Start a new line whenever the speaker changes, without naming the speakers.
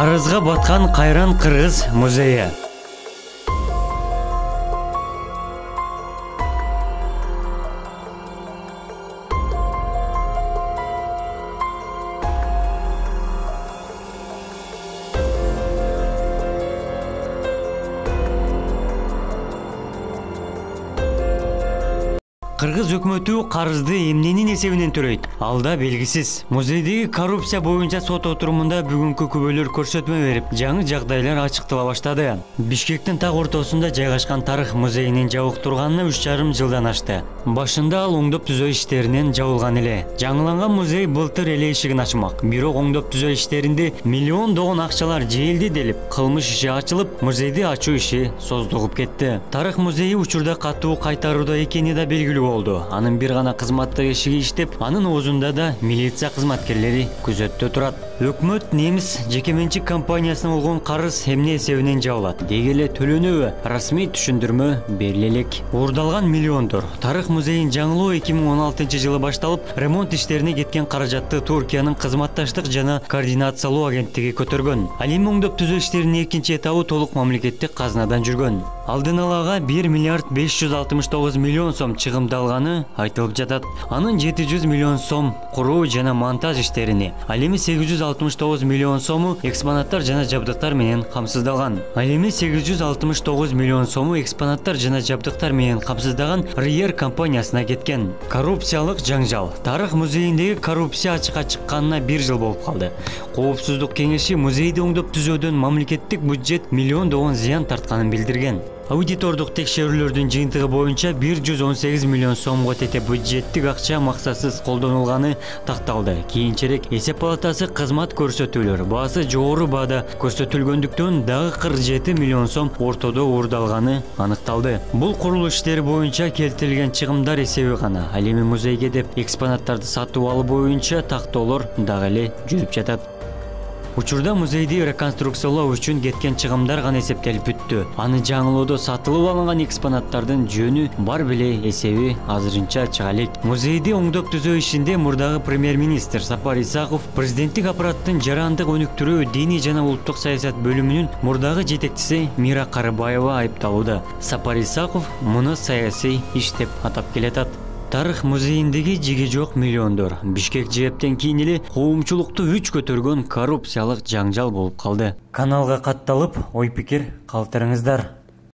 Карызга баткан Кайран Кыргыз музейи. Кыргыз өкмөтү карызды эмненин эсебинен төлөйт? Алда белгисиз. Музейдеги коррупция боюнча сот отурумунда бүгүнкү күбөлөр көрсөтмө берип, жаңы жагдайлар ачыктала баштады. Бишкектин так ортосунда жайгашкан тарых музейинин жабык турганына 3,5 жылдан ашты. Башында ал оңдоп түзөө иштеринен жабылган эле. Жаңыланган музей былтыр эле эшигин ачмак. Бирок оңдоп түзөө иштеринде миллиондогон акчалар жээлди делип, кылмыш иши ачылып, музейди ачуу иши создугуп кетти. Тарых музейи учурда катуу кайтарууда экени да белгилүү болду. Анын бир гана кызматтык эшиги иштеп, анын оозунда да милиция кызматкерлери күзөттө турат. Өкмөт немис жекеменчик компаниясына болгон карыз эмне эсебинен жабылат? Деги эле төлөнөбү? Расмий түшүндүрмө бериле элек. Уурдалган миллиондор. Тарых музейин жаңылоо 2016 жылы башталып, ремонт иштерине кеткен каражатты Туркиянын кызматташтык жана координациялоо агенттиги көтөргөн. Ал эми оңдоп түзөө иштеринин экинчи этабы толук мамлекеттик казынадан жүргөн. Алдын алага 1 миллиард 569 миллион сом чыгымдалганы айтылып жатат. Анын 700 миллион сом куруу жана монтаж иштерине, ал эми 869 миллион сому экспонаттар жана жабдыктар менен камсыздалган. Ал эми 869 миллион сому экспонаттар жана жабдыктар менен камсыздаган Риер компаниясына кеткен. Коррупциялык жаңжал. Тарых музейиндеги коррупция ачыкка чыкканына 1 жыл болуп калды. Коопсуздук кеңеши музейди оңдоп түзөөдөн мамлекеттик бюджет миллиондогон зыян тартканын билдирген. Аудитордук текшерүүлөрдүн жыйынтыгы боюнча 118 миллион сомго тете бюджеттик акча максатсыз колдонулганы такталды. Кийинчерээк эсеп палатасы кызмат көрсөтүүлөр баасы жогору баада көрсөтүлгөндүктөн дагы 47 миллион сом ортодо уурдалганы аныкталды. Бул курулуш иштери боюнча келтирилген чыгымдар эсеби гана. Ал эми музейге деп экспонаттарды сатып алуу боюнча тактоолор дагы эле жүрүп жатат. Учурда музейди реконструкциялоо үчүн кеткен чыгымдар гана эсептелип бүттү. Аны жаңылоодо сатылып алынган экспонаттардын жөнү бар беле эсеби азырынча чыга элек. Музейди оңдоп түзөө ишинде мурдагы премьер-министр Сапар Исаков, президенттик аппараттын жарандык өнүктүрүү, диний жана улуттук саясат бөлүмүнүн мурдагы жетекчиси Мира Карыбаева айыпталууда. Сапар Исаков муну саясий иш деп атап келатат. Тарых музейиндеги жиги жок миллиондор Бишкек жээптен кийин эле коомчулукту үч көтөргөн коррупциялык жаңжал болуп калды. Каналга катталып, ой пикир калтырыңыздар.